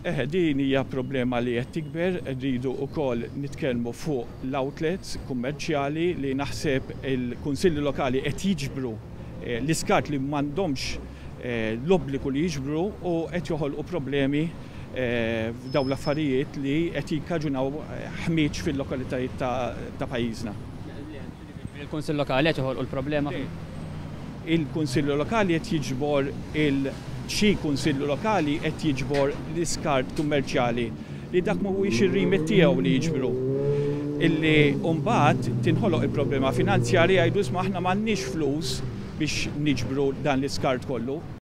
Eħe, din hija problema li qed tikber, rridu wkoll nitkellmu fuq l-outlets kummerċjali li naħseb il-kunsilli lokali qed jiġbru l-iskart li m'għandhomx l-obbligu li jiġbru u qed joħolqu problemi f'dawn l-affarijiet li qed jikkaġunaw ħmieġ fil-lokalitajiet ta' pajjiżna. Il-Kunsill Lokali qed joħolqu l-problema? Il-Kunsilli Lokali qed jiġbor il xi Kunsilli Lokali qed jiġbor l-iskart kummerċjali li dak mhuwiex ir-remit tiegħu li jiġbru. Illi mbagħad tinħoloq il-problema finanzjarja, jgħidu, "Isma', aħna m'għandniex flus biex niġbru dan l-iskart kollu."